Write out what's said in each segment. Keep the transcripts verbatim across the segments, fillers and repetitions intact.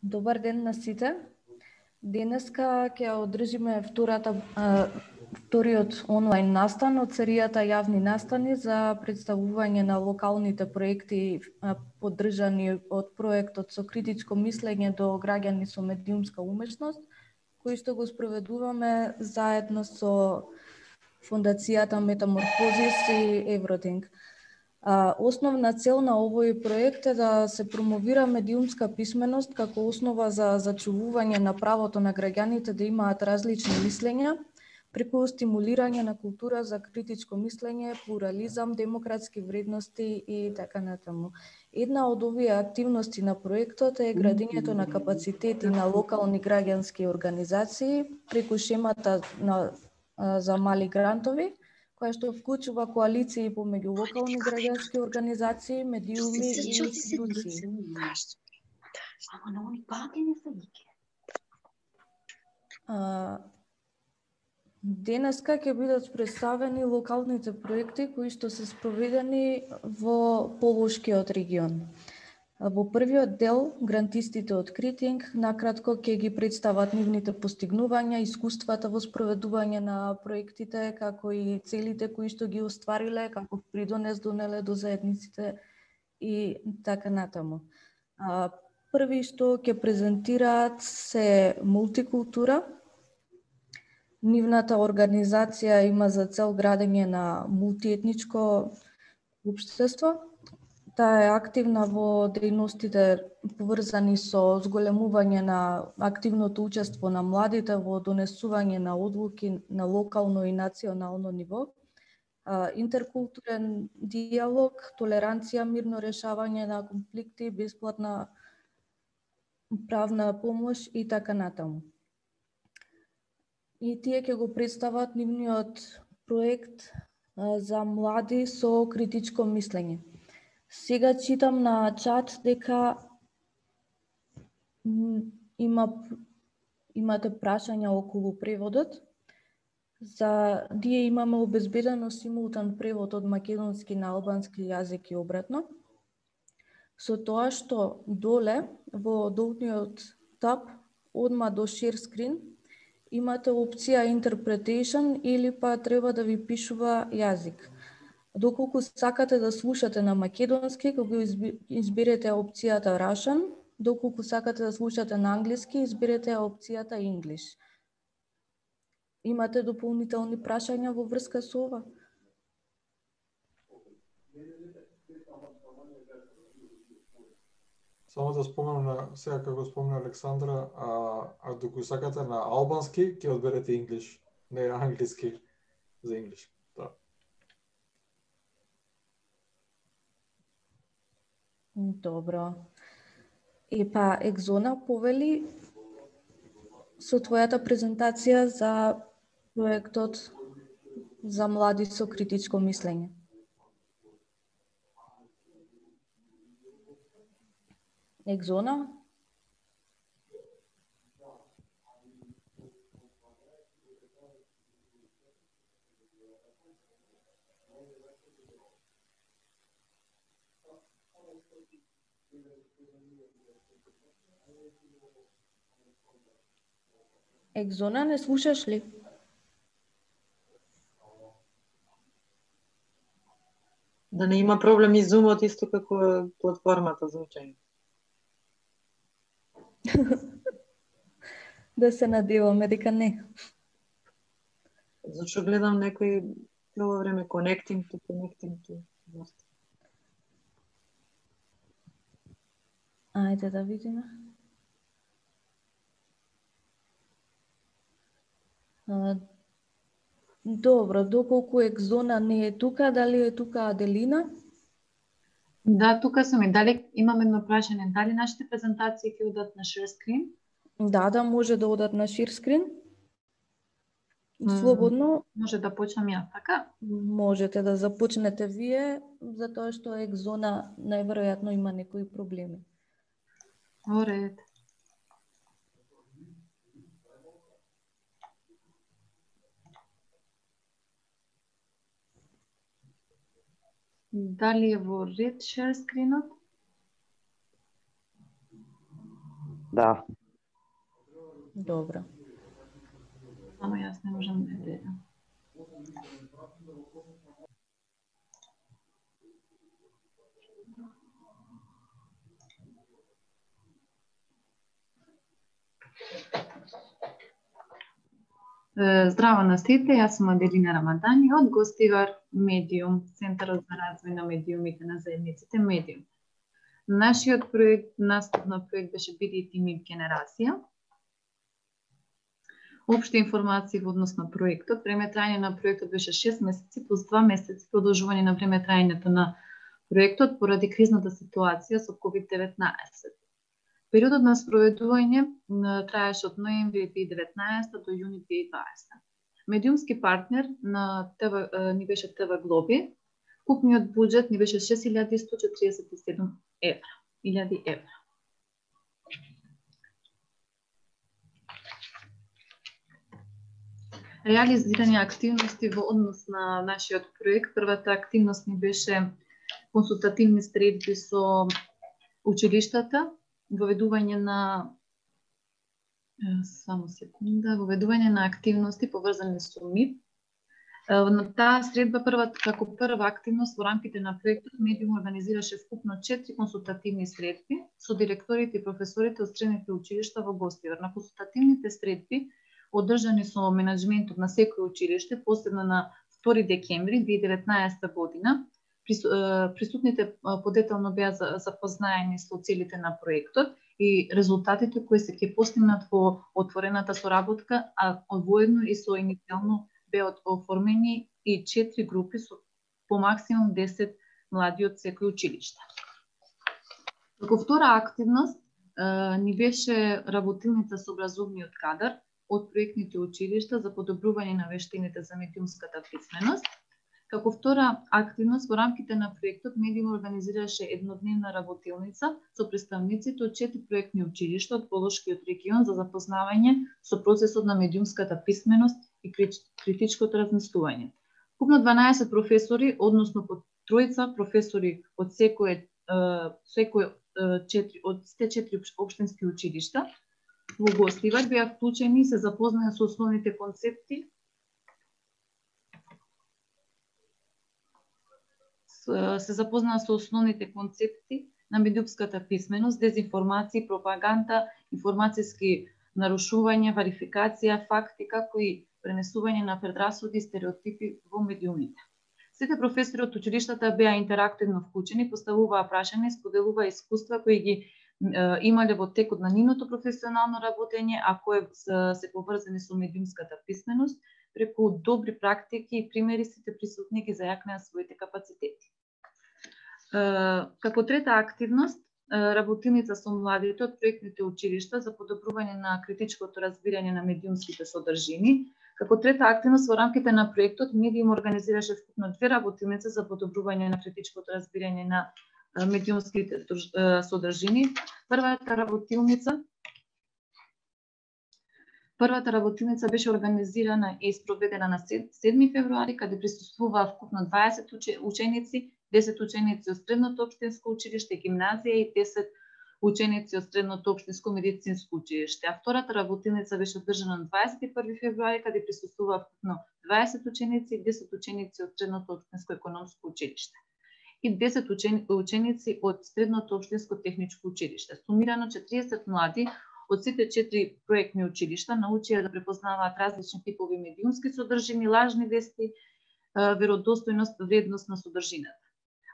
Добар ден на сите. Денеска ќе одржиме втората, а, вториот онлайн настан од серијата јавни настани за представување на локалните проекти а, поддржани од проектот со критичко мислење до граѓани со медиумска умешност, кои што го спроведуваме заедно со Фондацијата Метаморфозис и Евротинг. А, основна цел на овој проект е да се промовира медиумска писменост како основа за зачувување на правото на граѓаните да имаат различни мислења, преку стимулирање на култура за критичко мислење, плурализам, демократски вредности и така натаму. Една од овие активности на проектот е градењето на капацитети на локални граѓански организации преку шемата на, за мали грантови, која што вклучува коалиции помеѓу локални граѓански организации, медиуми и институции. А, денеска ќе бидат представени локалните проекти кои што се спроведени во Полошкиот регион. Во првиот дел, грантистите од Критинг накратко ќе ги представат нивните постигнувања, искуствата во спроведување на проектите, како и целите кои што ги оствариле, како придонес донеле до заедниците и така натаму. А, први што ќе презентираат се Мултикултура. Нивната организација има за цел градење на мултиетничко општество. Таа е активна во дејностите поврзани со зголемување на активното учество на младите во донесување на одлуки на локално и национално ниво, интеркултурен диалог, толеранција, мирно решавање на конфликти, бесплатна правна помош и така натаму. И тие ќе го представат нивниот проект за млади со критичко мислење. Сега читам на чат дека има имате прашања околу преводот. За ние имаме обезбедено симултан превод од македонски на албански јазик и обратно. Со тоа што доле во долниот таб, одма до share screen, имате опција interpretation или па треба да ви пишува јазик. Доколку сакате да слушате на македонски, кога изберете опцијата Russian, доколку сакате да слушате на англиски, изберете опцијата English. Имате дополнителни прашања во врска со ова? Само да спомнам на сега како спомна Александра, а, а доколку сакате на албански, ќе одберете English, не англиски за English. Да. Добро. И па, Екзона, повели со твојата презентација за проектот за млади со критичко мислење. Екзона? Екзона, не слушаш ли? Да не има проблем и Zoom-от исто како платформата за учење. Да се надеваме дека не. Зашто гледам некој цело време connecting to connecting to. Ајде да видиме. А, добро, доколку Екзона не е тука, дали е тука Аделина? Да, тука сум и дали имам едно прашање, дали нашите презентации ќе одат на share screen? Да, да, може да одат на share screen. Слободно. Може да почнам ја, така? Можете да започнете вие, затоа што Екзона најверојатно има некои проблеми. Оред. Дали е во ред share screen-от? Да. Добро. Само јас не можам да гледам. Здраво на сите, јас сум Аделина Рамадани од Гостивар Медиум, Центарот за развој на медиумите на заедниците Медиум. Нашиот проект, настав на проект беше Биди и МИП генерација. Општи информации во однос на проектот. Време трајање на проектот беше шест месеци плюс два месеци продолжување на време трајањето на проектот поради кризната ситуација со ковид деветнаесет. Периодот на спроведување траеше од ноември две илјади и деветнаесета до јуни две илјади и дваесета. Медиумски партнер на ТВ ни беше ТВ Глоби. Купниот буџет ни беше шест илјади сто четиридесет и седум евра. илјади евра. Реализирање активности во однос на нашиот проект. Првата активност ни беше консултативни средби со училиштата, воведување на само секунда, воведување на активности поврзани со МИП. На таа средба првата како прва активност во рамките на проектот Медиум организираше вкупно четири консултативни средби со директорите и професорите од средните училишта во Гостивар. На консултативните средби одржани со менаџментот на секој училиште, посебно на втори декември две илјади и деветнаесета година, присутните подетално беа запознаени со целите на проектот и резултатите кои се ќе постигнат во отворената соработка, а воедно и со иницијално беа оформени и четири групи со по максимум десет млади од секој училиште. Како втора активност ни беше работилница со образовниот кадар од проектните училишта за подобрување на вештините за медиумската писменост. Како втора активност во рамките на проектот Медиум организираше еднодневна работилница со представниците од четири проектни училишта од Полошкиот регион за запознавање со процесот на медиумската писменост и критичкото размислување. Купно дванаесет професори, односно по тројца професори од секој секој четири од сите четири општински училишта во Гостивар беа вклучени и се запознаја со основните концепти се запознаа со основните концепти на медиумската писменост, дезинформација, пропаганда, информацијски нарушување, верификација, факти, како и пренесување на предрасуди и стереотипи во медиумите. Сите професори од училиштата беа интерактивно вклучени, поставуваа прашања и споделуваа искуства кои ги имале во текот на нивното професионално работење, а кои се поврзани со медиумската писменост, преку добри практики и примери сите присутни ги зајакнеа своите капацитети. Како трета активност, работилница со младите од проектните училишта за подобрување на критичкото разбирање на медиумските содржини. Како трета активност во рамките на проектот Медиум организираше вкупно две работилници за подобрување на критичкото разбирање на медиумските содржини. Првата работилница Првата работилница беше организирана и спроведена на седми февруари, каде присуствуваа вкупно дваесет ученици, десет ученици од средното општинско училиште, гимназија и десет ученици од средното општинско медицинско училиште. А втората работилница беше одржана на дваесет и први февруари, каде присуствуваа вкупно дваесет ученици и десет ученици од средното општинско економско училиште и десет ученици од средното општинско техничко училиште. Сумирано четириесет млади од сите четири проектни училишта научија да препознаваат различни типови медиумски содржини, лажни вести, веродостојност, вредност на содржината.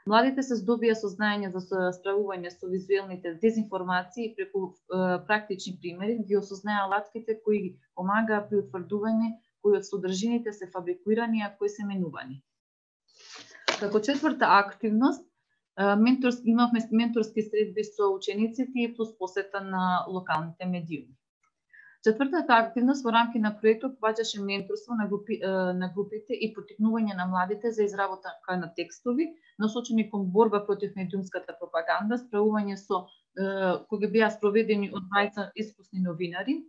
Младите се здобија со знаење за справување со визуелните дезинформации и преку практични примери ги осознаја алатките кои ги помагаа при утврдување кои од содржините се фабрикирани, а кои се менувани. Како четврта активност, менторски, имавме менторски средби со учениците и плюс посета на локалните медиуми. Четвртата активност во рамки на проектот ваѓаше менторство на, групи, на групите и поттикнување на младите за изработка на текстови, насочени кон борба против медиумската пропаганда, справување со кои беа спроведени од двајца искусни новинари.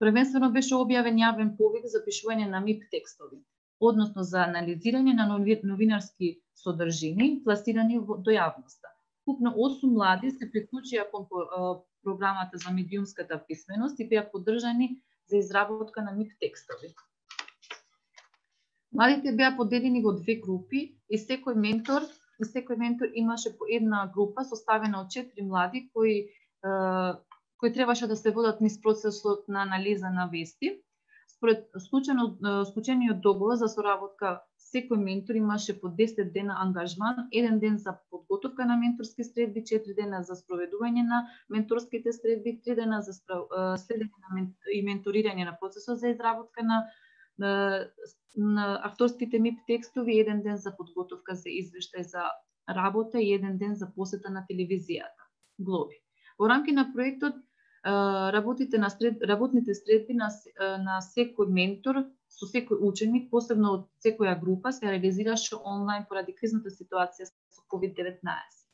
Првенствено беше објавен јавен повик за пишување на МИП текстови, односно за анализирање на новинарски содржини пласирани до јавноста. Купно осум млади се приклучија кон програмата за медиумската писменост и беа поддржани за изработка на МИП текстови. Младите беа поделени во две групи и секој ментор, и секој ментор имаше по една група составена од четири млади кои кои требаше да се водат низ процесот на анализа на вести. Според склучениот договор за соработка, секој ментор имаше по десет дена ангажман, еден ден за подготовка на менторски средби, четири дена за спроведување на менторските средби, три дена за следење и менторирање на процесот за изработка на, на, на авторските МИП текстови, еден ден за подготовка за извештај за работа и еден ден за посета на телевизијата. Глоби. Во рамки на проектот, работите на сред, работните средби на, на секој ментор со секој ученик, посебно од секоја група, се реализираше онлайн поради кризната ситуација со ковид деветнаесет.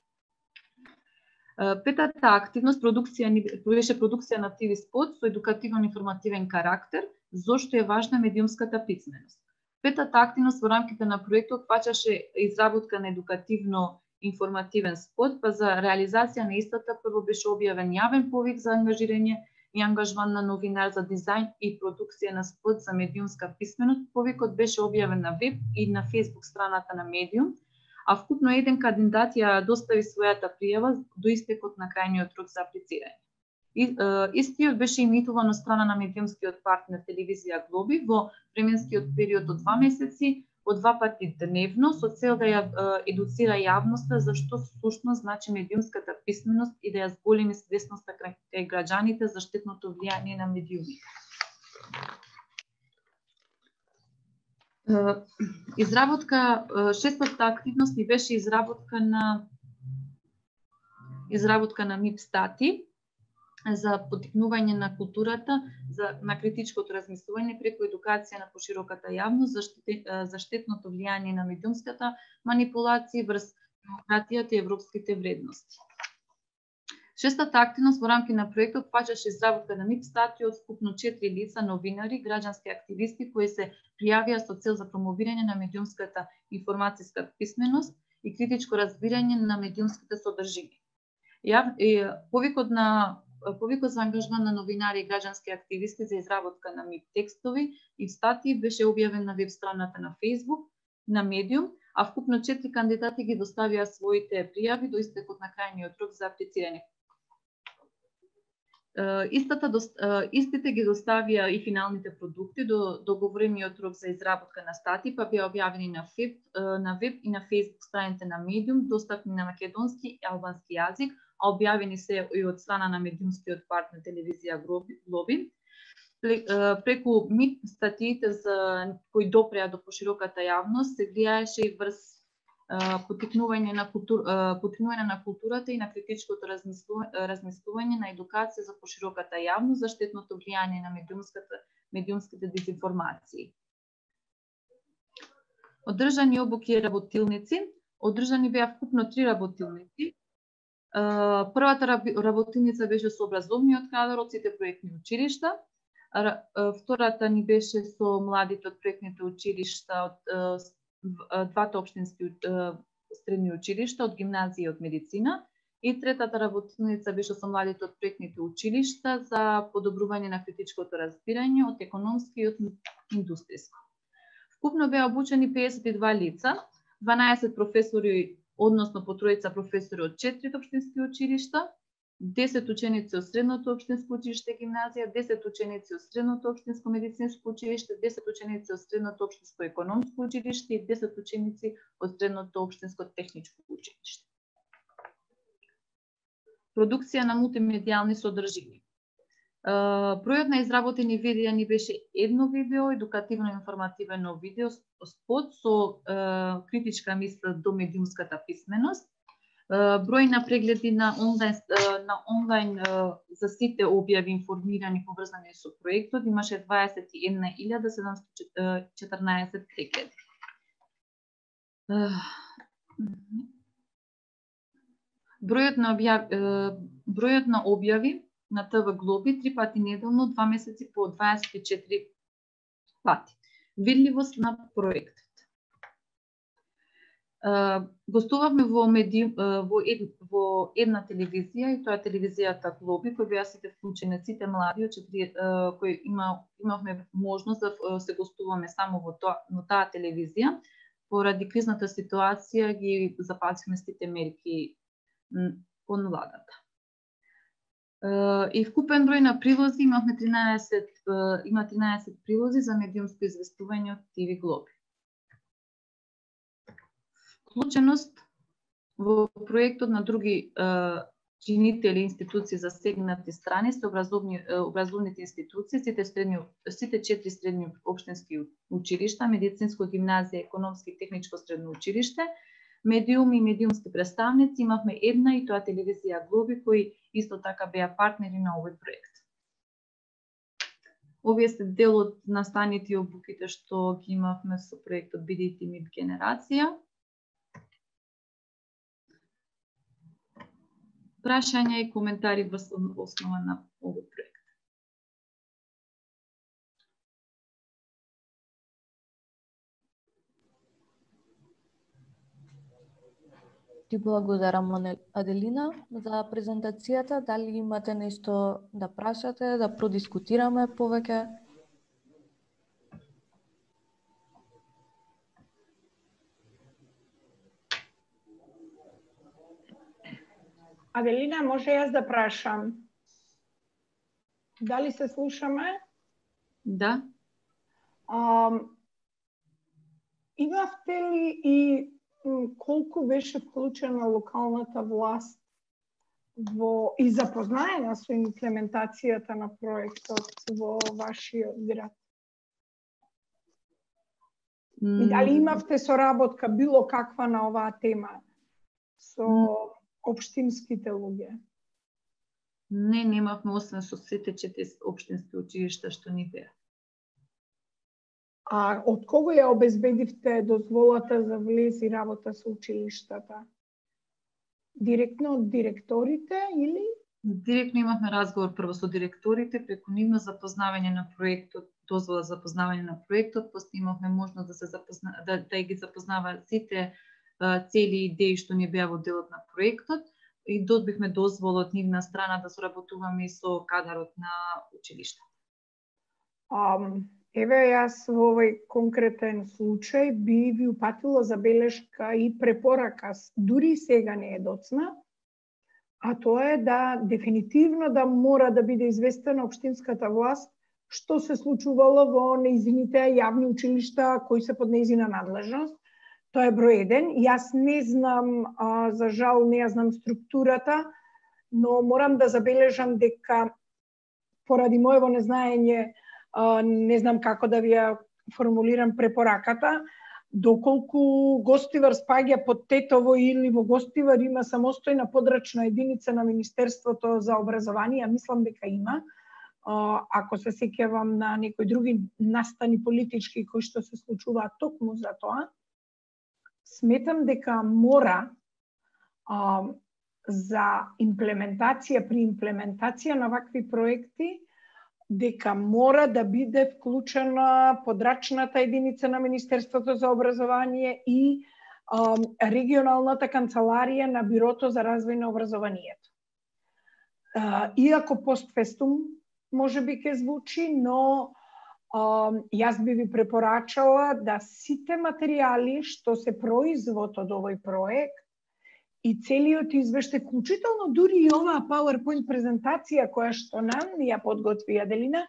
Петата активност продукција беше продукција на ти ви спот со едукативно-информативен карактер, зошто е важна медиумската писменост. Петата активност во рамките на проектот фаќаше изработка на едукативно информативен спот, па за реализација на истата прво беше објавен јавен повик за ангажирање и ангажман на новинар за дизајн и продукција на спот за медиумска писменост. Повикот беше објавен на веб и на фејсбук страната на Медиум, а вкупно еден кандидат ја достави својата пријава до истекот на крајниот рок за аплицирање. И, е, истиот беше имитуван од страна на медиумскиот партнер телевизија Глоби во временскиот период од два месеци, од два пати дневно, со цел да ја е, едуцира јавноста за што сушност значи медиумската писменост и да ја зголеми свесноста кај граѓаните за штетното влијание на медиумите. Изработка, шестата активност ни беше изработка на изработка на МИП стати за поттикнување на културата, за, на критичкото размислување преку едукација на пошироката јавност за, штет, за штетното влијание на медиумската манипулација врз демократијата и европските вредности. Шестата активност во рамки на проектот фаќаше изработка на МИП стати од вкупно четири лица, новинари, граѓански активисти кои се пријавија со цел за промовирање на медиумската информацијска писменост и критичко разбирање на медиумските содржини. Јав, е, повикот на Повикот за ангажман на новинари и граѓански активисти за изработка на МИП текстови и статии беше објавен на веб страната на Фејсбук, на Медиум, а вкупно четири кандидати ги доставија своите пријави до истекот на крајниот рок за аплицирање. Истата, истите ги доставија и финалните продукти до договорениот рок за изработка на статии, па беа објавени на веб, на веб и на Фејсбук страните на Медиум, достапни на македонски и албански јазик, а објавени се и од страна на медиумскиот партнер телевизија Глоби. Преку МИП статиите за кои допреа до пошироката јавност се влијаеше и врз поттикнување на култур, поттикнување на културата и на критичкото размислување на едукација за пошироката јавност за штетното влијание на медиумската медиумските дезинформации. Одржани обуки и работилници. Одржани беа вкупно три работилници. Првата работилница беше со образовниот кадар од сите проектни училишта. Втората ни беше со младите од проектните училишта од двата општински средни училишта, од гимназија и од медицина. И третата работилница беше со младите од проектните училишта за подобрување на критичкото разбирање од економски и од индустријско. Вкупно беа обучени педесет и два лица, дванаесет професори, односно по тројца професори од четири општински училишта, десет ученици од средното општинско училиште гимназија, десет ученици од средното општинско медицинско училиште, десет ученици од средното општинско економско училиште и десет ученици од средното општинско техничко училиште. Продукција на мултимедијални содржини. Бројот на изработени видеа ни беше едно видео, едукативно-информативно видео спот со критичка мисла до медиумската писменост. Број на прегледи на онлайн, на онлайн за сите објави информирани поврзани со проектот имаше дваесет и една илјада седумстотини и четрнаесет прегледи. Бројот на објави, бројот на објави на Т В Глоби три пати неделно, два месеци по дваесет и четири пати. Видливост на проектот. Гостувавме во, меди... во, ед... во една телевизија, и тоа е телевизијата Глоби, кој беа сите вклучени, сите млади, четири... кои има... имавме можност да се гостуваме само во, тоа... во таа телевизија. Поради кризната ситуација ги запазивме сите мерки кон владата. И вкупен број на прилози имавме тринаесет, има тринаесет прилози за медиумско известување од Ти Ви Глоби. Вклученост во проектот на други чинители институции засегнати страни се образовни, образовните институции, сите, средни, сите четири средни општински училишта, медицинско гимназија, економски и техничко средно училиште, медиуми и медиумски представници, имавме една и тоа телевизија Глоби, кои исто така беа партнери на овој проект. Овие се дел од настаните и обуките што ги имавме со проектот Бидејте МИП генерација. Прашања и коментари во основа на овој проект. Ти благодарам, Аделина, за презентацијата. Дали имате нешто да прашате, да продискутираме повеќе? Аделина, може јас да прашам? Дали се слушаме? Да. А, имавте ли и колку беше вклучена локалната власт во и запознаена со имплементацијата на проектот во вашиот град? Mm. И дали имавте соработка било каква на оваа тема со mm. општинските луѓе? Не, немавме, освен со сите четири општински училишта што ни беа. А од кого ја обезбедивте дозволата за влез и работа со училиштата? Директно од директорите или? Директно имавме разговор прво со директорите, преку нивно запознавање на проектот, дозвола за запознавање на проектот, после имавме можност да се запозна, да, да ги запознава сите цели идеи што ни беа во делот на проектот и добивме дозвола од нивна страна да соработуваме и со кадарот на училиштата. Um, еве јас во овој конкретен случај би ви упатила забелешка и препорака, дури сега не е доцна, а тоа е да дефинитивно да мора да биде известена општинската власт што се случувало во нејзините јавни училишта кои се под нејзина надлежност. Тоа е број еден. Јас не знам, а, за жал не ја знам структурата, но морам да забележам дека поради моево незнаење, а, не знам како да ви ја формулирам препораката, доколку Гостивар спаѓа под Тетово или во Гостивар има самостојна подрачна единица на Министерството за образование, мислам дека има. А, ако се сеќавам на некои други настани политички кои што се случуваат токму за тоа, сметам дека мора а, за имплементација, при имплементација на вакви проекти, дека мора да биде вклучена подрачната единица на Министерството за образование и а, регионалната канцеларија на Бирото за развој на образованието. А, иако постфестум може би ке звучи, но Uh, јас би ви препорачала да сите материјали што се производ од овој проект и целиот извештај, вклучително дури и оваа PowerPoint презентација која што нам ја подготви Аделина,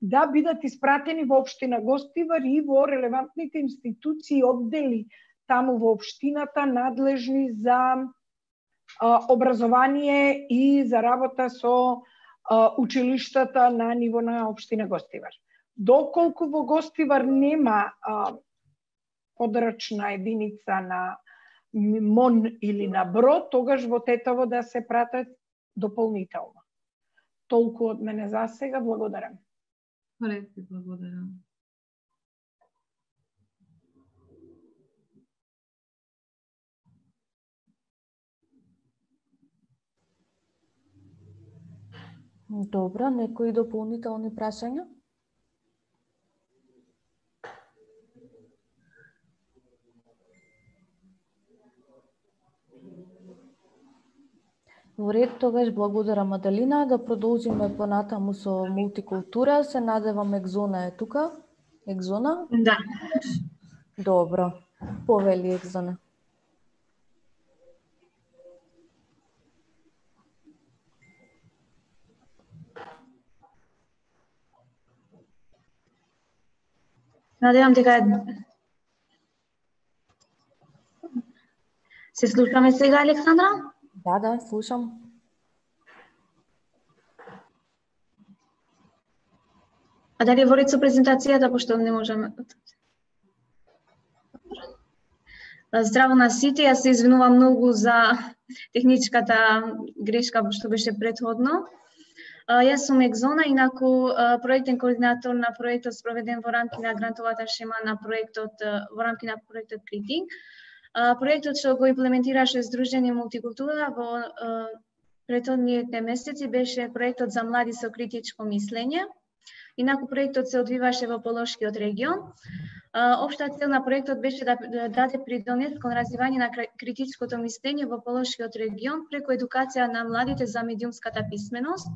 да бидат испратени во општина Гостивар и во релевантните институции, оддели таму во општината надлежни за uh, образование и за работа со uh, училиштата на ниво на општина Гостивар. Доколку во Гостивар нема а, подрачна единица на МОН или на БРО, тогаш во Тетово да се пратат дополнително. Толку од мене за сега, благодарам. Ред, благодарам. Добро, некои дополнителни прашања? Во ред, тогаш благодарам Маделина. Да продолжиме понатаму со мултикултура. Се надевам Екзона е тука. Екзона? Да. Добро. Повели Екзона. Надевам дека се слушаме сега, Александра? Да, да, слушам. А дали во ред со презентацијата, пошто не можеме... Здраво на сите, јас се извинувам многу за техничката грешка што беше претходно. Јас сум Екзона, инаку проектен координатор на проектот спроведен во рамки на грантовата шема на проектот во рамки на проектот Критинг. Проектот што го имплементираше Сдружение Мултикултура во претходните месеци беше проектот за млади со критичко мислење. Инаку проектот се одвиваше во Полошкиот регион. Општа цел на проектот беше да даде придонес кон развивање на критичкото мислење во Полошкиот регион преку едукација на младите за медиумската писменост.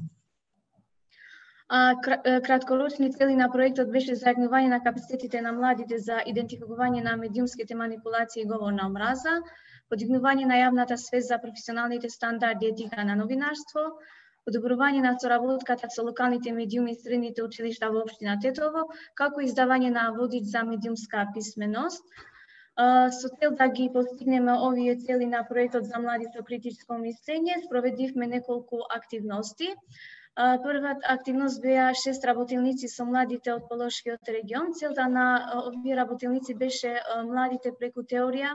Краткорочни цели на проектот беше зајагнување на капацитетите на младите за идентификување на медиумските манипулации и говор на омраза, подигнување на јавната свест за професионалните стандарди и етика на новинарство, подобрување на соработката со локалните медиуми и средните училишта во општина Тетово, како и издавање на водич за медиумска писменост. Со цел да ги постигнеме овие цели на проектот за млади со критичко мислење, спроведивме неколку активности. Првата активност беа шест работилници со младите од Полошкиот регион. Целта на овие работилници беше младите преку теорија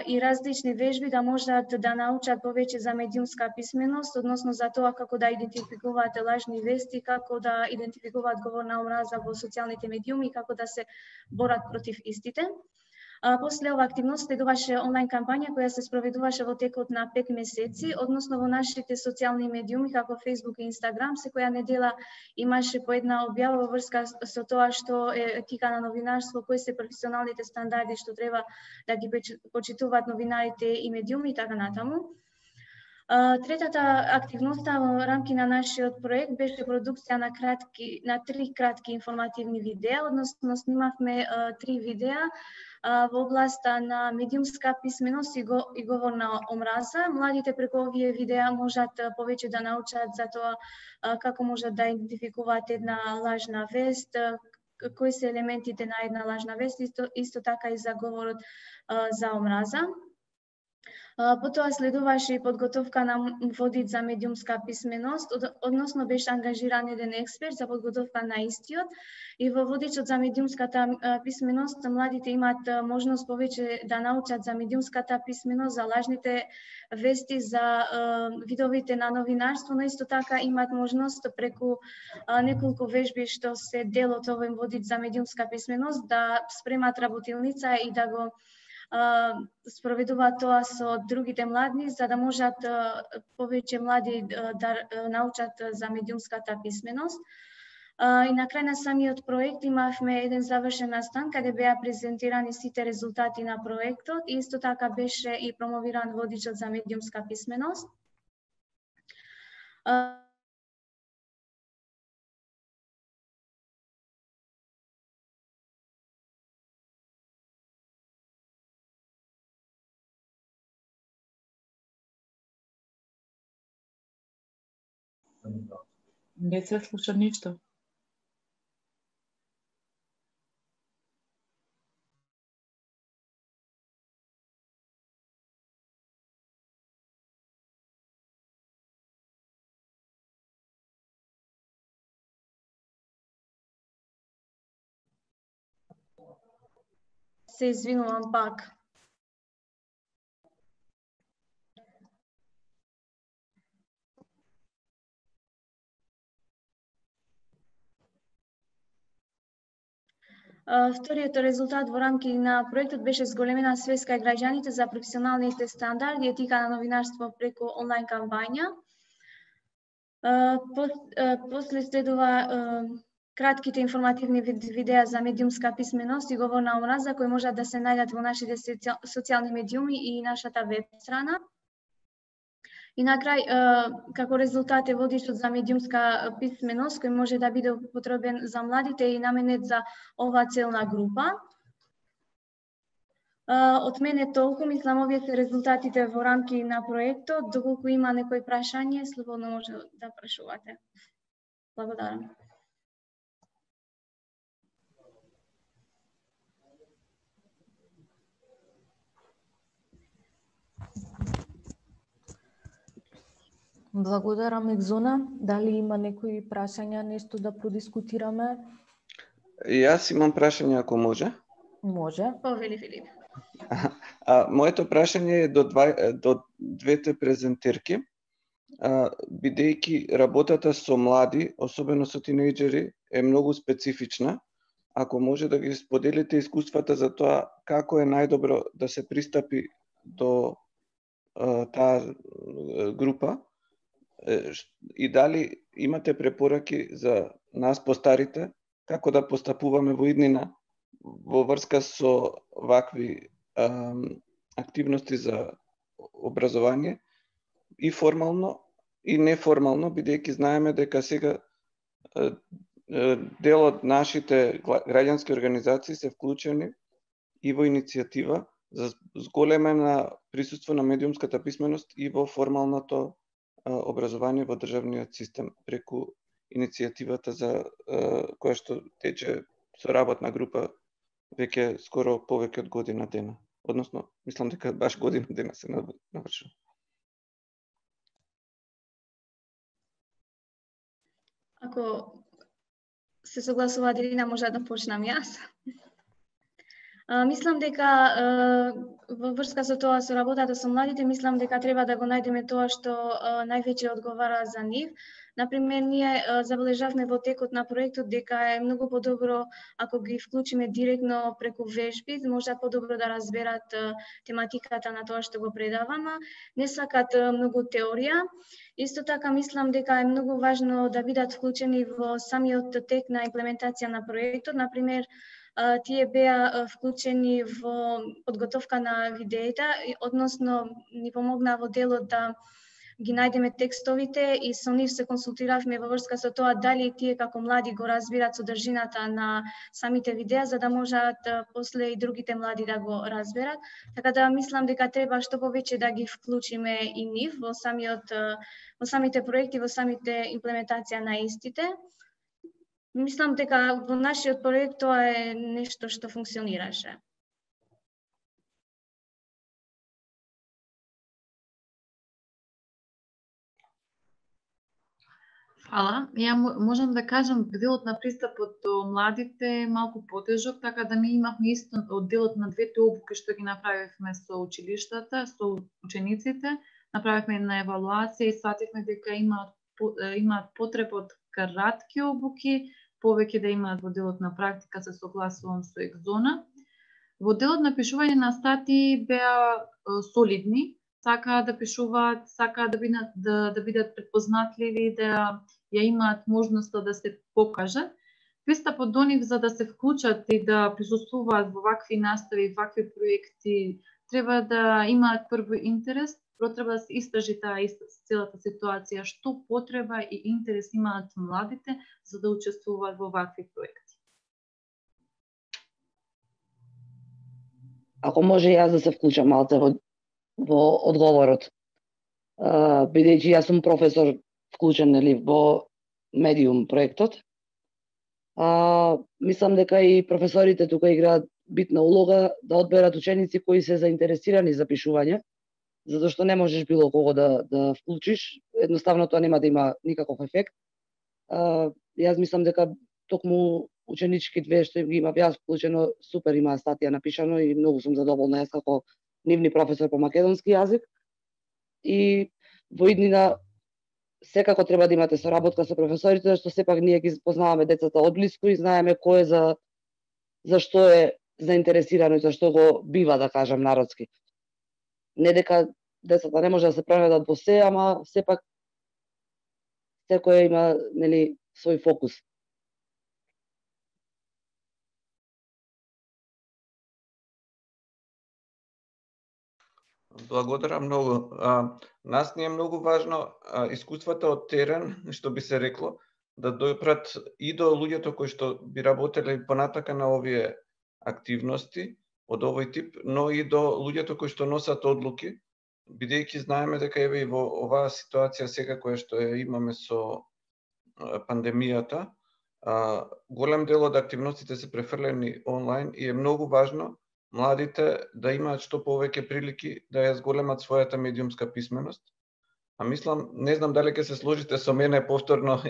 и различни вежби да можат да научат повеќе за медиумска писменост, односно за тоа како да идентификуваат лажни вести, како да идентификуваат говор на омраза во социјалните медиуми и како да се борат против истите. После ова активност следуваше онлайн кампања која се спроведуваше во текот на пет месеци, односно во нашите социјални медиуми како Facebook и Instagram. Секоја недела имаше по една објава во врска со тоа што е етика на новинарство, кои се професионалните стандарди што треба да ги почитуваат новинарите и медиуми и така натаму. Третата активноста во рамки на нашиот проект беше продукција на кратки на три кратки информативни видеа, односно снимавме три видеа во областа на медиумска писменост и говор на омраза. Младите преку овие видеа можат повеќе да научат за тоа како можат да идентификуваат една лажна вест, кои се елементите на една лажна вест, исто, исто така и за говорот за омраза. Потоа следуваше и подготовка на водич за медиумска писменост, односно беше ангажиран еден експерт за подготовка на истиот и во водичот за медиумската писменост младите имаат можност повеќе да научат за медиумската писменост, за лажните вести, за видовите на новинарство, но исто така имаат можност преку неколку вежби што се дел од овој водич за медиумска писменост да спремат работилница и да го спроведуваат тоа со другите млади, за да можат повеќе млади да научат за медиумската писменост. И на крај на самиот проект имавме еден завршен настан каде беа презентирани сите резултати на проектот и исто така беше и промовиран водичот за медиумска писменост. Не се слуша ништо. Се извинувам пак. Вториот резултат во рамки на проектот беше зголемена свест кај граѓаните за професионалните стандарди и етика на новинарство преку онлайн кампања. После следува кратките информативни видеа за медиумска писменост и говор на омраза кои можат да се најдат во нашите социјални медиуми и нашата веб страна. И на крај, како резултат е водичот за медиумска писменост, кој може да биде употребен за младите и наменет за оваа целна група. Од мене толку, мислам, овие се резултатите во рамки на проектот. Доколку има некој прашање, слободно може да прашувате. Благодарам. Благодарам, Екзона. Дали има некои прашања, нешто да продискутираме? Јас имам прашање, ако може. Може. Повели, Филип. А, моето прашање е до, два, до двете презентерки. А, бидејќи работата со млади, особено со тинејџери, е многу специфична, ако може да ги споделите искуствата за тоа како е најдобро да се пристапи до а, таа група, и дали имате препораки за нас постарите, како да постапуваме во иднина во врска со вакви а, активности за образование, и формално и неформално, бидејќи знаеме дека сега а, дел од нашите граѓански организации се вклучени и во иницијатива за зголемена присуство на медиумската писменост и во формалното образование во државниот систем преку иницијативата за која што тече со работна група веќе скоро повеќе од година дена. Односно, мислам дека баш година дена се навршува. Ако се согласува Делина, може да почнам јас. Uh, мислам дека uh, во врска со тоа, со работата со младите, мислам дека треба да го најдеме тоа што uh, највеќе одговара за нив. Например, ние uh, забележавме во текот на проектот дека е многу подобро ако ги вклучиме директно преку вежби, може подобро да разберат uh, тематиката на тоа што го предаваме. Не сакат uh, многу теорија. Исто така мислам дека е многу важно да бидат вклучени во самиот тек на имплементација на проектот. Например, тие беа вклучени во подготовка на видеите, односно ни помогна во делот да ги најдеме текстовите и со нив се консултиравме во врска со тоа дали тие како млади го разбират содржината на самите видеа, за да можат после и другите млади да го разберат. Така да мислам дека треба што повеќе да ги вклучиме и нив во самиот во самите проекти, во самите имплементација на истите. Мислам дека во нашиот проект тоа е нешто што функционираше. Фала. Ја можам да кажам делот на пристапот до младите е малку потежок, така да ми имавме исто од делот на двете обуки што ги направивме со училиштата, со учениците, направивме една евалуација и свативме дека имаат имаат потреба од кратки обуки, повеќе да имаат во делот на практика, се согласувам со Екзона. Во делот на пишување на статии беа солидни, сакаат да пишуваат, сакаат да бидат, да, да бидат препознатливи, да ја имаат можноста да се покажат. Пристапот до нив за да се вклучат и да присуствуваат во вакви настави, вакви проекти, треба да имаат прво интерес, прво треба да се истражи таа целата ситуација, што потреба и интерес имаат младите за да учествуваат во вакви проекти. Ако може јас да се вклучам малце во, во одговорот, бидејќи јас сум професор вклучен нели во медиум проектот, а, мислам дека и професорите тука играат битна улога да одберат ученици кои се заинтересирани за пишување, затоа што не можеш било кого да, да вклучиш, едноставно тоа нема да има никаков ефект. А, јас мислам дека токму ученички две што ги имав јас вклучено, супер има статија напишано и многу сум задоволна јас како нивни професор по македонски јазик. И во иднина секако треба да имате соработка со професорите, зашто сепак ние ги познаваме децата одблиску и знаеме кој е за за што е заинтересирано и за што го бива, да кажам народски. Не дека децата не може да се преведат во се, ама сепак секој има нели свој фокус. Благодарам многу. А, нас ни е многу важно а, искуствата од терен, што би се рекло, да допрат и до луѓето кои што би работеле понатака на овие активности од овој тип, но и до луѓето кои што носат одлуки, бидејќи знаеме дека еве и во оваа ситуација сега која што ја имаме со пандемијата, а, голем дел од активностите се префрлени онлайн и е многу важно младите да имаат што повеќе прилики да ја зголемат својата медиумска писменост. А мислам, не знам дали ќе се сложите со мене повторно,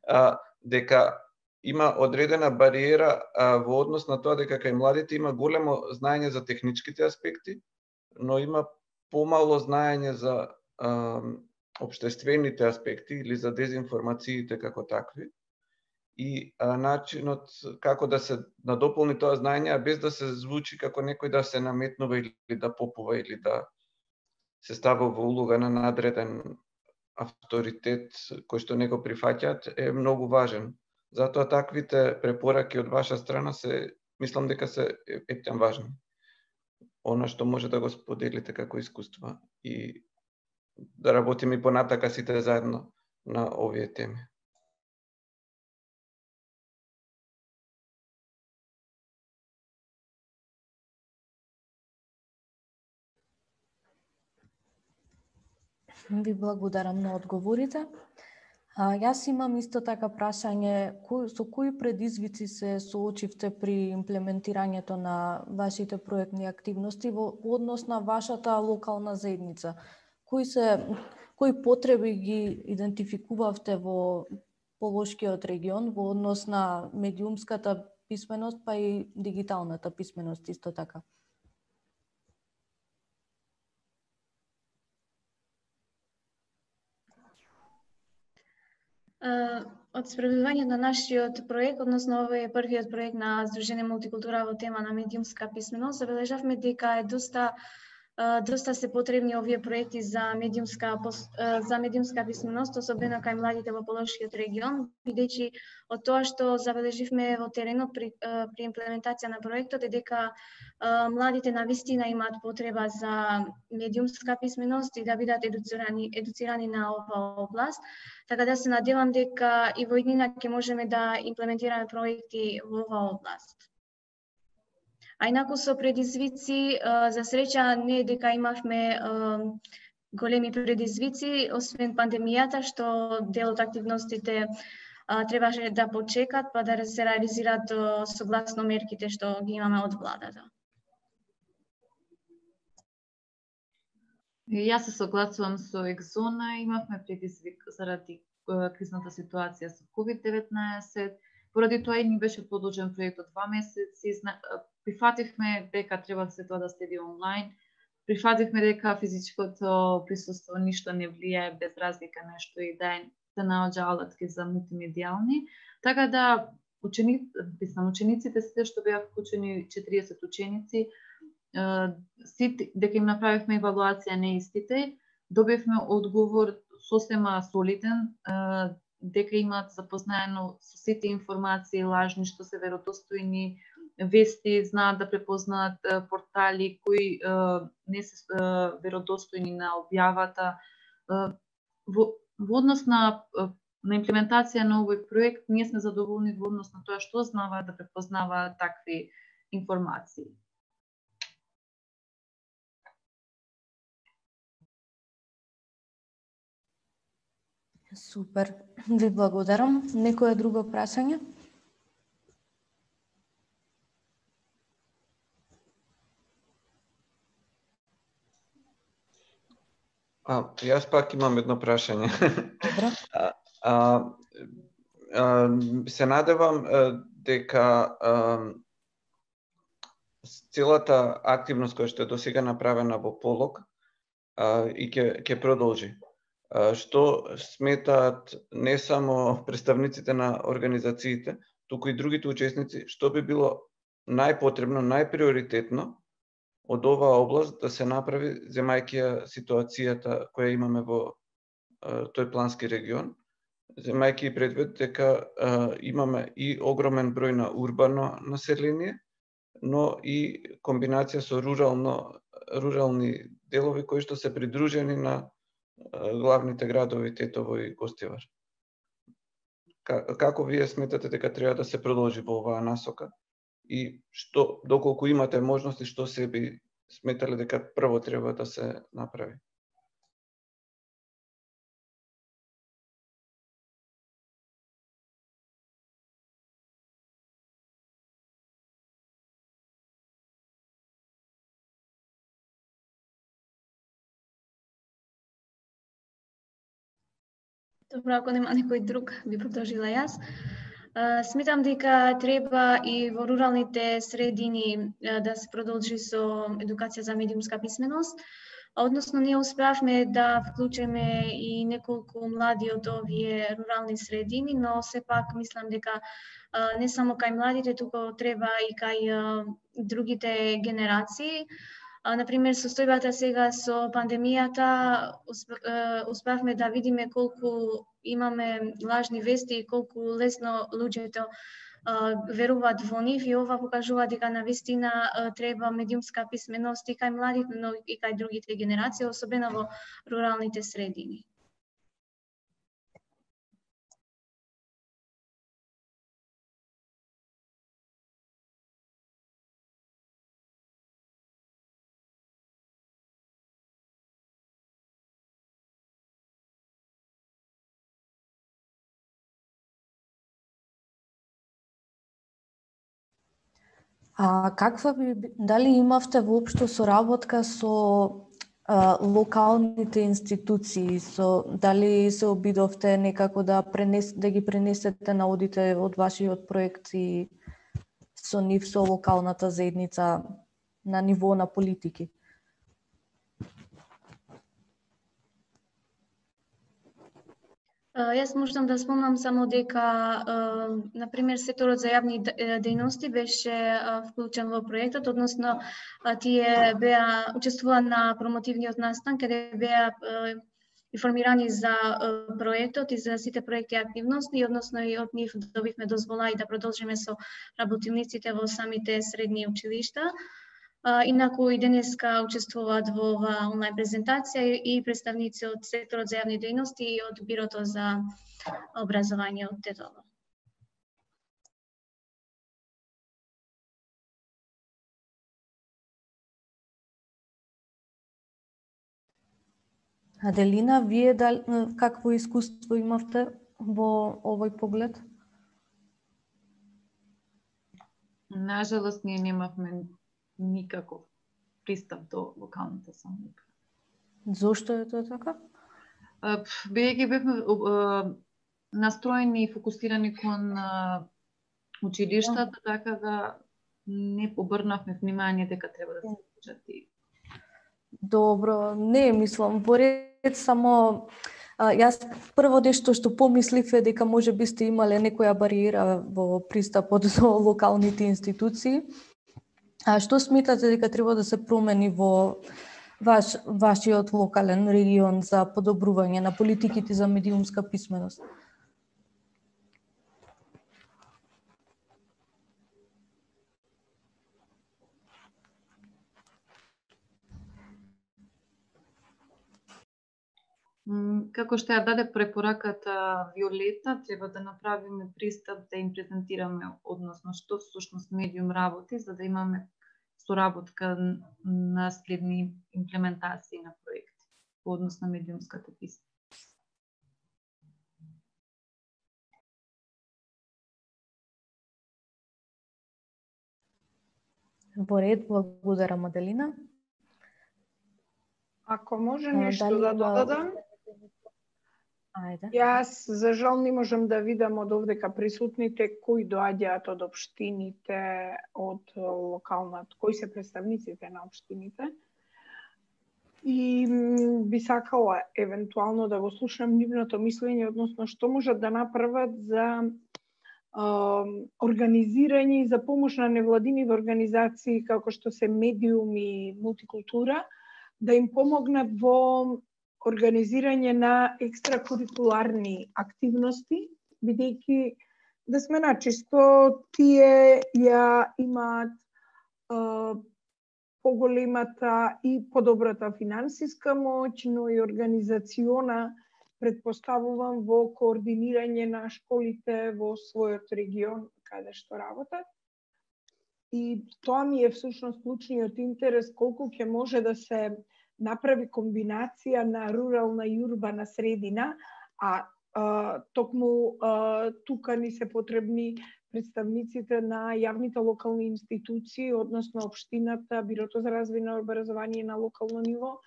а, дека има одредена бариера а, во однос на тоа дека кај младите има големо знаење за техничките аспекти, но има помало знаење за а, општествените аспекти или за дезинформациите како такви. И а, начинот како да се надополни тоа знаење, без да се звучи како некој да се наметнува или да попува или да се става во улога на надреден авторитет кој што не го прифаќаат, е многу важен. Затоа таквите препораки од ваша страна се, мислам дека се ептен важни. Она што може да го споделите како искуства и да работиме и понатака сите заедно на овие теми. Ви благодарам на одговорите. А, јас имам исто така прашање, кој, со кои предизвици се соочивте при имплементирањето на вашите проектни активности во однос на вашата локална заедница? Кои се кои потреби ги идентификувавте во Полошкиот регион во однос на медиумската писменост, па и дигиталната писменост исто така? Од спроведување на нашиот проект, односно овој е првиот проект на Сдружение Мултикултура во тема на медиумска писменост, забележавме дека е доста доста се потребни овие проекти за медиумска за медиумска писменост, особено кај младите во Полошкиот регион, бидејќи од тоа што забележивме во теренот при, при имплементација на проектот е дека младите навистина имаат потреба за медиумска писменост и да бидат едуцирани едуцирани на оваа област. Така да се надевам дека и во иднина ќе можеме да имплементираме проекти во оваа област. А инаку со предизвици, за среќа не е дека имавме големи предизвици, освен пандемијата, што дел од активностите требаше да почекат, па да се реализираат согласно мерките што ги имаме од владата. Јас се согласувам со Екзона, имавме предизвик заради кризната ситуација со ковид деветнаесет, поради тоа и ни беше продолжен проектот два месеци. Прифативме дека треба се тоа да следи онлайн, прифативме дека физичкото присуство ништо не влијае без разлика нешто и да се наоѓа алатки за мултимедијални, така да ученици, учениците сите што беа вклучени четириесет ученици, сите, дека им направивме евалуација на истите, добивме одговор сосема солиден, дека имаат запознаено со сите информации лажни што се веродостојни, вести, знаат да препознаат портали кои не се веродостојни на објавата. Во, во однос на, на имплементација на овој проект, ние сме задоволни во однос на тоа што знаат да препознаваат такви информации. Супер, ви благодарам. Некое друго прашање? А, јас пак имам едно прашање. Добро. а, а, а, се надевам дека а, целата активност која што е досега направена во Полог а, и ќе ќе продолжи. А, што сметаат не само представниците на организациите, туку и другите учесници, што би било најпотребно, најприоритетно од оваа област да се направи, земајќи ја ситуацијата која имаме во а, тој плански регион, земајќи и предвид дека а, имаме и огромен број на урбано население, но и комбинација со рурално, рурални делови кои што се придружени на главните градови Тетово и Гостивар. Како вие сметате дека треба да се продолжи во оваа насока? И што, доколку имате можности, што се би сметале дека прво треба да се направи? Добро, ако нема некој друг, би продолжила јас. Сметам дека треба и во руралните средини да се продолжи со едукација за медиумска писменост. Односно, ние успеавме да вклучиме и неколку млади од овие рурални средини, но сепак мислам дека не само кај младите, туку треба и кај другите генерации. Например, состојбата сега со пандемијата, успеавме да видиме колку имаме лажни вести и колку лесно луѓето веруваат во нив, и ова покажува дека навистина треба медиумска писменост и кај младите, но и кај другите генерации, особено во руралните средини. А каква би, дали имавте воопшто соработка со а, локалните институции, со дали се обидовте некако да пренес, да ги пренесете наодите од вашиот проект и со нив, со локалната заедница на ниво на политики? Јас можам да спомнам само дека, например, секторот за јавни дејности беше вклучен во проектот, односно тие беа учествува на промотивниот настан, каде беа информирани за проектот и за сите проекти и активности, односно и од нив добивме дозвола и да продолжиме со работилниците во самите средни училишта. Инаку и денеска учествуваат во оваа онлайн презентација и представници од секторот за јавни дејности и од Бирото за образование од Тетово. Аделина, вие дали, какво искуство имавте во овој поглед? Нажалост, ние немавме никаков пристап до локалната самоуправа. Зошто е тоа така? Бидејќи бевме настроени и фокусирани кон училиштата, така да не обрнавме внимание дека треба да се вклучат и. Добро, не мислам, во ред само а, јас прво нешто што помислив е дека може би сте имале некоја бариера во пристапот до локалните институции. А што сметате дека треба да се промени во ваш, вашиот локален регион за подобрување на политиките за медиумска писменост? Како што ја даде препораката Виолета, треба да направиме пристап да им презентираме, односно што всушност медиум работи, за да имаме соработка на следни имплементации на проекти во однос на медиумската писменост. Во ред, благодарам, Аделина. Ако може нешто да додадам? Ајде. Јас, за жал, не можам да видам од овдека присутните кои доаѓаат од општините, од локалната, кои се представниците на општините. И би сакала евентуално да го слушам нивното мислење, односно што можат да направат за е, организирање и за помош на невладиниви организации како што се Медиум и Мултикултура, да им помогнат во организирање на екстракурикуларни активности, бидејќи да сме начисто, тие ја имаат поголемата и подобрата финансиска моќ, но и организациона, предпоставувам, во координирање на школите во својот регион каде што работат. И тоа ми е всушност клучниот интерес, колку ќе може да се направи комбинација на рурална и урбана средина, а, а токму а, тука ни се потребни представниците на јавните локални институции, односно општината, Бирото за развој на образование на локално ниво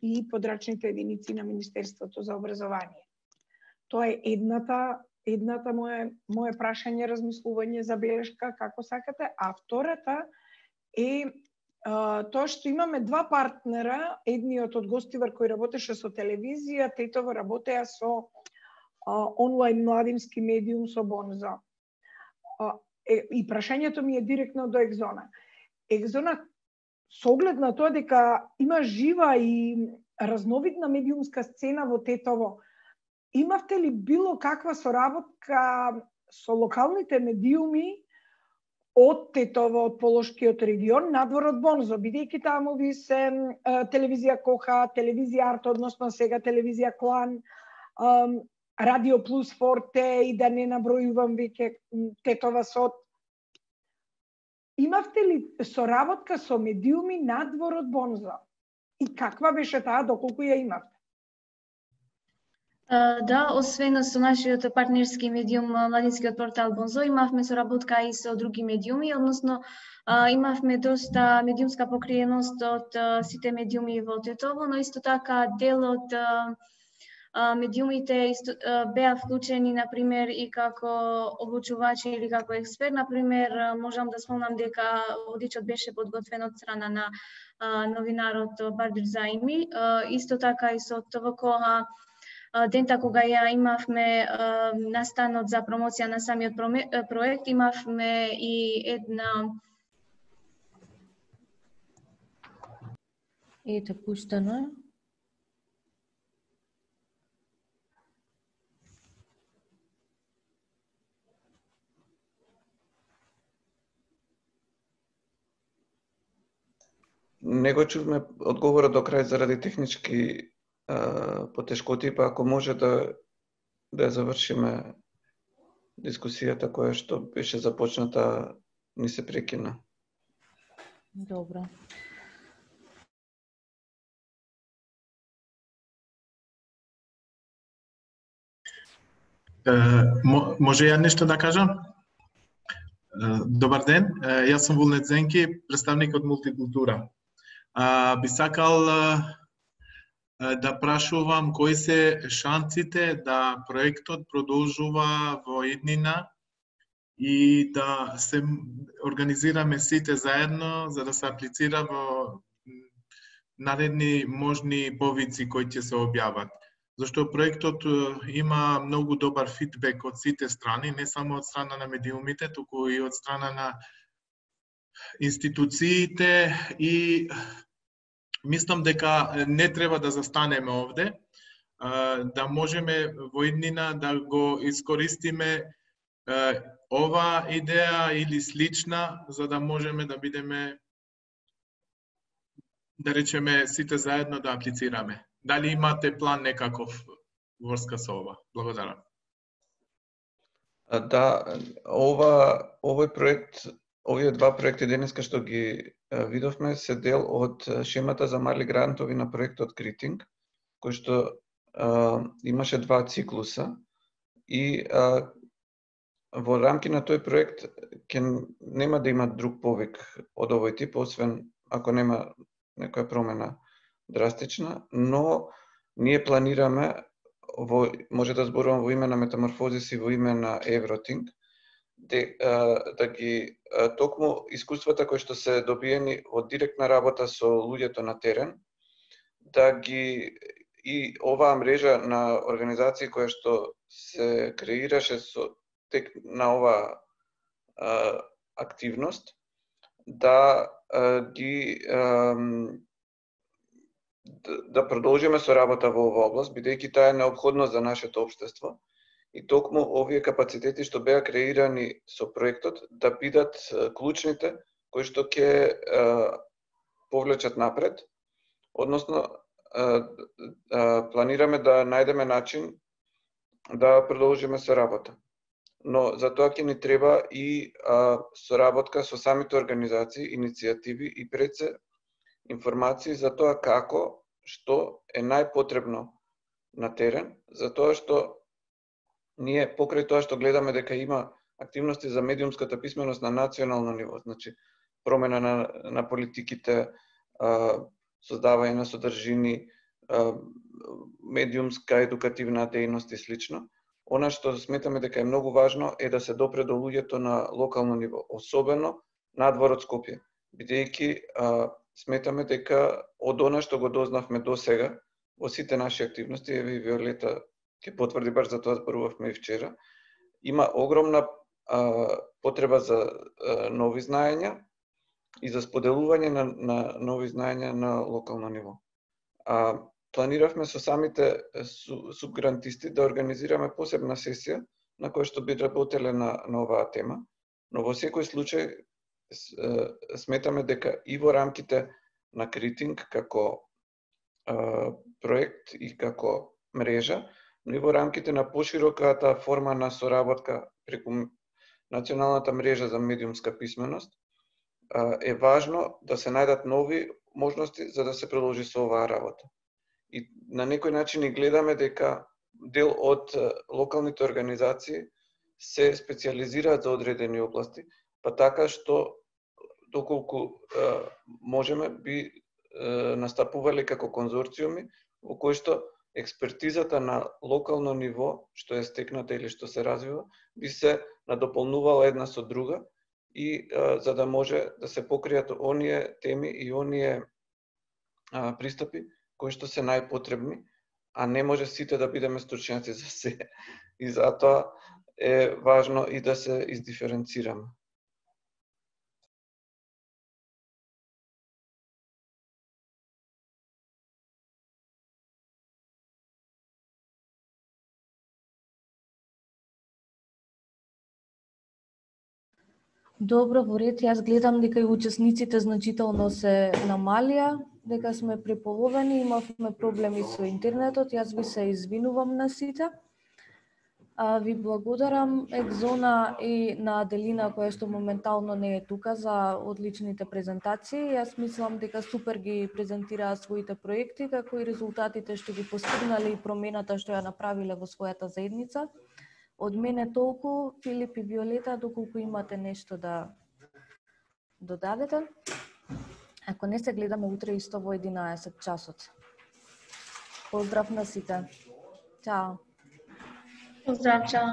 и подрачните единици на Министерството за образование. Тоа е едната, едната моje, моje прашање, размислување, забелешка, како сакате, а втората е а, тоа што имаме два партнера, едниот од Гостивар кој работеше со телевизија, третово работеа со а, онлайн младински медиум со Бонзо. А, е, и прашањето ми е директно до Екзона. Екзона, со оглед на тоа дека има жива и разновидна медиумска сцена во Тетово, имавте ли било каква соработка со локалните медиуми од Тетово, од Полошкиот регион, надвор од Бонзо, бидејќи таму ви се е, телевизија Коха, телевизија Арт, односно сега телевизија Клан, е, Радио Плюс Форте и да не набројувам веќе Тетова Сот. Имавте ли соработка со медиуми надвор од Бонзо? И каква беше таа, доколку ја имавте? Uh, да, освен со нашиот партнерски медиум Младинскиот портал Бонзо, имавме соработка и со други медиуми, односно uh, имавме доста медиумска покриеност од uh, сите медиуми во Тетово, но исто така дел од uh, медиумите исто, беа вклучени, например, и како обучувачи или како експерт. Например, можам да спомнам дека водичот беше подготвен од страна на а, новинарот Бардир Заими. А, исто така и со ТВК дента кога ја имавме а, настанот за промоција на самиот проект, имавме и една Ете, пуштено е. Не го чувме одговорот до крај заради технички а, потешкоти, па ако може да да завршиме дискусијата која што беше започната, ни се прекина. Добро. Може ја нешто да кажам? Добар ден, јас сум Вулнет Зенки, представник од Мултикултура. Би сакал да прашувам кои се шансите да проектот продолжува во иднина и да се организираме сите заедно за да се аплицира во наредни можни повици кои ќе се објават. Зашто проектот има многу добар фидбек од сите страни, не само од страна на медиумите, туку и од страна на институциите, и мислам дека не треба да застанеме овде, да можеме во иднина да го искористиме ова идеја или слична, за да можеме да бидеме, да речеме, сите заедно да аплицираме. Дали имате план некаков врска со ова? Благодарам. Да, ова овој проект, овие два проекти денеска што ги видовме се дел од шемата за мали грантови на проектот Критинг, кој што а, имаше два циклуса и а, во рамки на тој проект ќе нема да има друг повик од овој тип, освен ако нема некоја промена драстична, но ние планираме, во, може да зборувам во име на Метаморфозис и во име на Евротинг, де, а, да ги а, токму искуствата кои што се добиени од директна работа со луѓето на терен, да ги и оваа мрежа на организации која што се креираше со тек на оваа а, активност, да а, ги а, да продолжиме со работа во оваа област, бидејќи таа е неопходно за нашето општество. И токму овие капацитети што беа креирани со проектот да бидат клучните кои што ќе повлечат напред, односно планираме да најдеме начин да продолжиме со работа. Но за тоа ќе ни треба и а, соработка со самите организации, иницијативи и пред се информации за тоа како, што е најпотребно на терен, за тоа што ние покрај тоа што гледаме дека има активности за медиумската писменост на национално ниво, значи промена на, на политиките, а, создавање на содржини, а, медиумска едукативна дејност и слично. Она што сметаме дека е многу важно е да се допре до луѓето на локално ниво, особено надвор од Скопје, бидејќи сметаме дека од она што го дознавме до сега во сите наши активности, еве и Виолета ќе потврди, баш за тоа зборувавме и вчера, има огромна а, потреба за а, нови знаења и за споделување на, на нови знаења на локално ниво. А, Планиравме со самите субгрантисти да организираме посебна сесија на која што би работеле на, на оваа тема, но во секој случај сметаме дека и во рамките на Критинг како а, проект и како мрежа, но и во рамките на пошироката форма на соработка преку Националната мрежа за медиумска писменост, а, е важно да се најдат нови можности за да се продолжи со оваа работа. И на некој начин и гледаме дека дел од локалните организации се специализираат за одредени области, па така што доколку е, можеме би е, настапувале како конзорциуми во кои што експертизата на локално ниво, што е стекната или што се развива, би се надополнувала една со друга и е, за да може да се покријат оние теми и оние е, пристапи кои што се најпотребни, а не може сите да бидеме стручњаци за се. И затоа е важно и да се издиференцираме. Добро, во ред, јас гледам дека и учесниците значително се намалија, дека сме преполовени, имавме проблеми со интернетот, јас ви се извинувам на сите. А, ви благодарам Екзона и на Аделина која што моментално не е тука за одличните презентации. Јас мислам дека супер ги презентираат своите проекти, како и резултатите што ги постигнале и промената што ја направиле во својата заедница. Од мене толку, Филип и Виолета, доколку имате нешто да додадете. Ако не, се гледаме утре исто во единаесет часот. Поздрав на сите. Чао. Поздрав, чао.